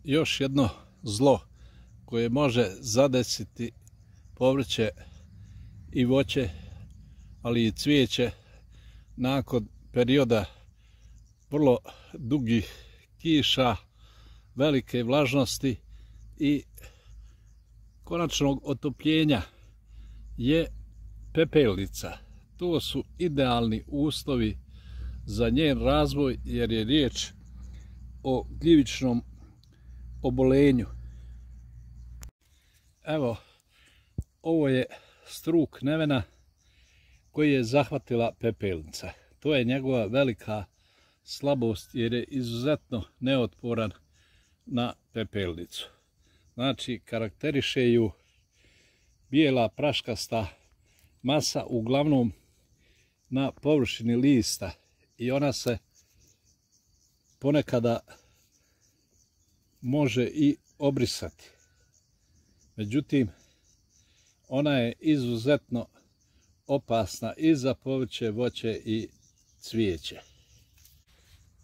još jedno zlo koje može zadesiti povrće i voće, ali i cvijeće nakon perioda vrlo dugih kiša, velike vlažnosti i konačnog otopljenja je pepelnica. To su idealni uslovi za njen razvoj jer je riječ o gljivičnom obolenju. Evo, ovo je struk nevena koji je zahvatila pepelnica. To je njegova velika slabost jer je izuzetno neotporan na pepelnicu. Znači, karakteriše ju bijela praškasta masa, uglavnom na površini lista, i ona se ponekada može i obrisati. Međutim, ona je izuzetno opasna i za povrće, voće i cvijeće.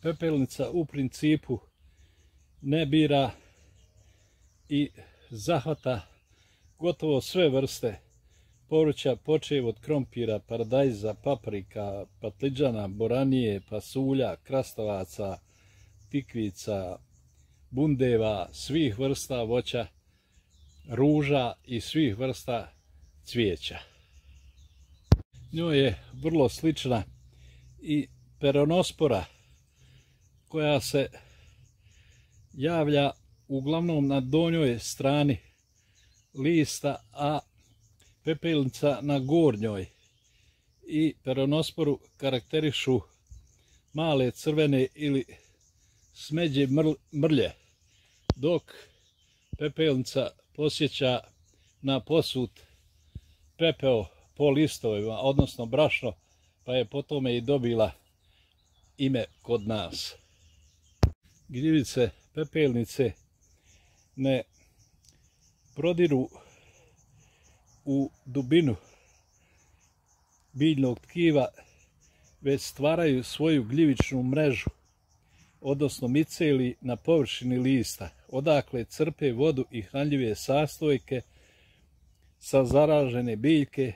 Pepelnica u principu ne bira i zahvata gotovo sve vrste povrća, počev od krompira, paradajza, paprika, patliđana, boranije, pasulja, krastavaca, tikvica, bundeva, svih vrsta voća, ruža i svih vrsta cvijeća. Njoj je vrlo slična i peronospora koja se javlja uglavnom na donjoj strani lista, a pepelnica na gornjoj. I peronosporu karakterišu male crvene ili smeđe mrlje, dok pepelnica posjeća na posut pepeo po listovima, odnosno brašno, pa je po tome i dobila ime kod nas. Gljivice pepelnice ne prodiru u dubinu biljnog tkiva, već stvaraju svoju gljivičnu mrežu, odnosno miceli na površini lista, odakle crpe vodu i hranljive sastojke sa zaražene biljke,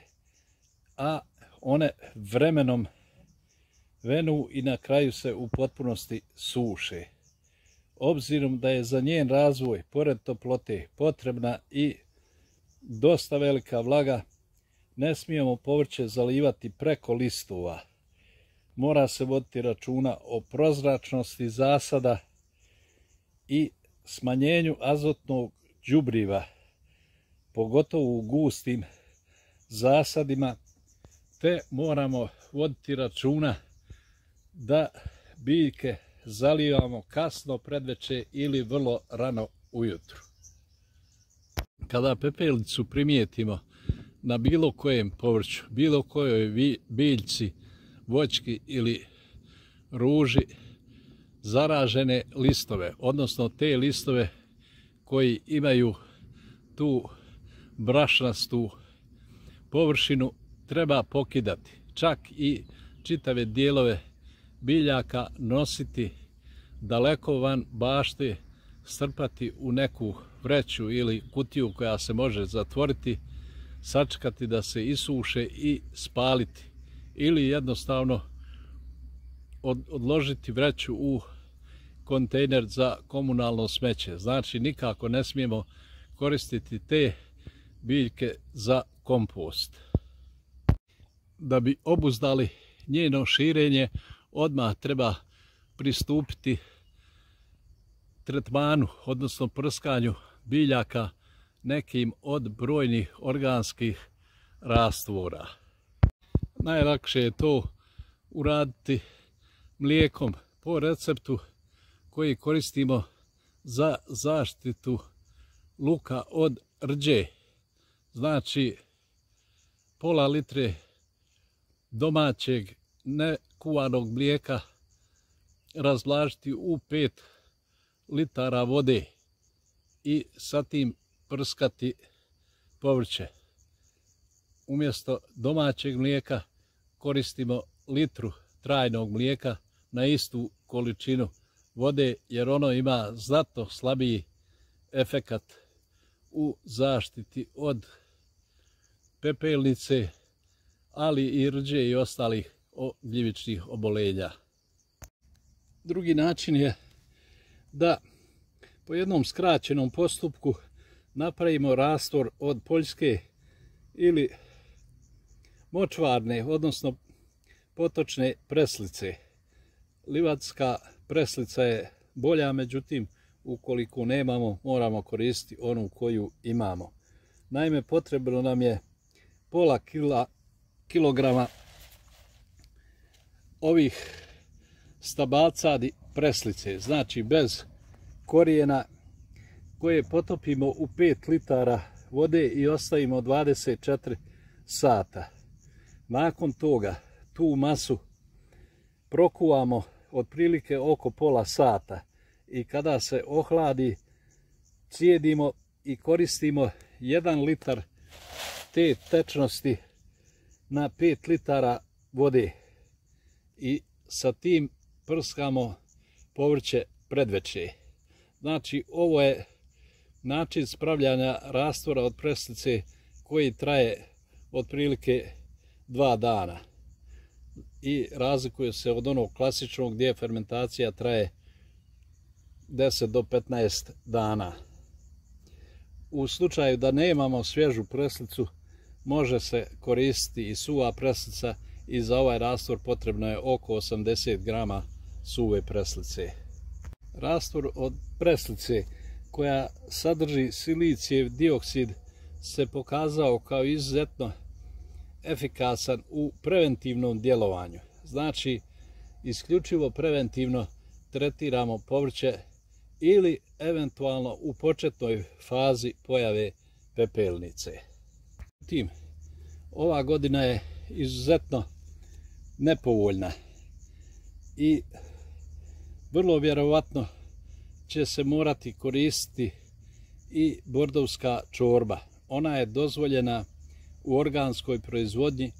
a one vremenom venu i na kraju se u potpunosti suše. Obzirom da je za njen razvoj, pored toplote, potrebna i dosta velika vlaga, ne smijemo povrće zalivati preko listova. Mora se voditi računa o prozračnosti zasada i smanjenju azotnog đubriva, pogotovo u gustim zasadima, te moramo voditi računa da biljke zalivamo kasno predveče ili vrlo rano ujutru. Kada pepelnicu primijetimo na bilo kojem povrću, bilo kojoj biljci, voćki ili ruži, zaražene listove, odnosno te listove koji imaju tu brašnastu površinu, treba pokidati. Čak i čitave dijelove biljaka nositi daleko van bašte, strpati u neku vreću ili kutiju koja se može zatvoriti, sačekati da se isuše i spaliti. Ili jednostavno odložiti vreću u kontejner za komunalno smeće. Znači, nikako ne smijemo koristiti te biljke za kompost. Da bi obuzdali njeno širenje, odmah treba pristupiti tretmanu, odnosno prskanju biljaka nekim od brojnih organskih rastvora. Najlakše je to uraditi mlijekom po receptu koji koristimo za zaštitu luka od rđe. Znači, pola litre domaćeg nekuvanog mlijeka razvlažiti u 5 litara vode i sa tim prskati povrće. Umjesto domaćeg mlijeka koristimo litru trajnog mlijeka na istu količinu vode, jer ono ima znatno slabiji efekat u zaštiti od pepelnice, ali i rđe i ostalih gljivičnih oboljenja. Drugi način je da po jednom skraćenom postupku napravimo rastvor od poljske ili močvarne, odnosno potočne preslice. Livatska preslica je bolja, međutim, ukoliko nemamo, moramo koristiti onu koju imamo. Naime, potrebno nam je pola kilograma ovih stabacadi preslice, znači bez korijena, koje potopimo u 5 litara vode i ostavimo 24 sata. Nakon toga tu masu prokuvamo otprilike oko pola sata i kada se ohladi cijedimo i koristimo 1 litar te tečnosti na 5 litara vode i sa tim prskamo povrće predveče. Znači, ovo je način spravljanja rastvora od preslice koji traje otprilike 2 dana i razlikuje se od onog klasičnog gdje fermentacija traje 10 do 15 dana. U slučaju da nemamo svježu preslicu, može se koristiti i suva preslica i za ovaj rastvor potrebno je oko 80 grama suve preslice. Rastvor od preslice koja sadrži silicijev dioksid se pokazao kao izuzetno efikasan u preventivnom djelovanju. Znači, isključivo preventivno tretiramo povrće ili eventualno u početnoj fazi pojave pepelnice. Tim, ova godina je izuzetno nepovoljna i vrlo vjerovatno će se morati koristiti i bordovska čorba. Ona je dozvoljena u organskoj proizvodnji,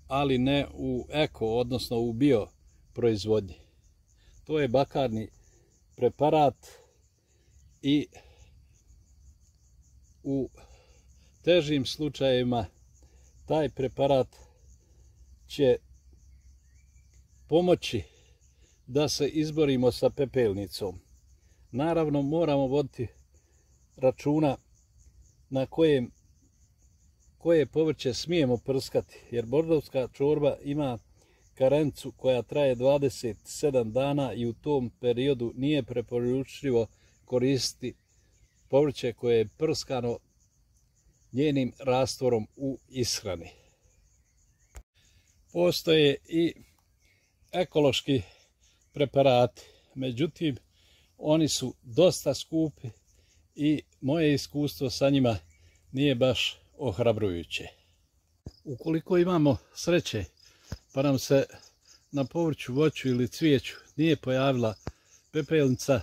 ali ne u eko, odnosno u bio proizvodnji. To je bakarni preparat i u težim slučajevima taj preparat će pomoći da se izborimo sa pepelnicom. Naravno, moramo voditi računa na koje povrće smijemo prskati, jer bordovska čorba ima karencu koja traje 27 dana i u tom periodu nije preporučljivo koristiti povrće koje je prskano njenim rastvorom u ishrani. Postoje i ekološki preparati, međutim, oni su dosta skupi i moje iskustvo sa njima nije baš ohrabrujuće. Ukoliko imamo sreće pa nam se na povrću, voću ili cvijeću nije pojavila pepelnica,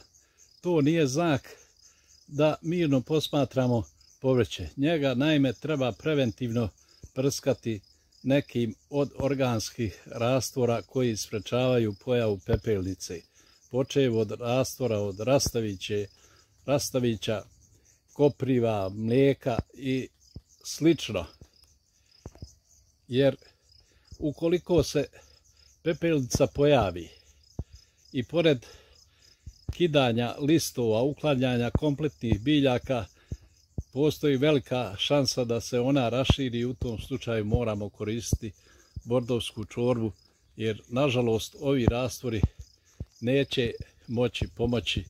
to nije znak da mirno posmatramo povrće. Njega naime treba preventivno prskati nekim od organskih rastvora koji sprečavaju pojavu pepelnice, počev od rastvora od rastavića, kopriva, mlijeka i slično. Jer ukoliko se pepelnica pojavi i pored kidanja listova, uklanjanja kompletnih biljaka, postoji velika šansa da se ona raširi i u tom slučaju moramo koristiti bordovsku čorbu, jer nažalost ovi rastvori neće moći pomoći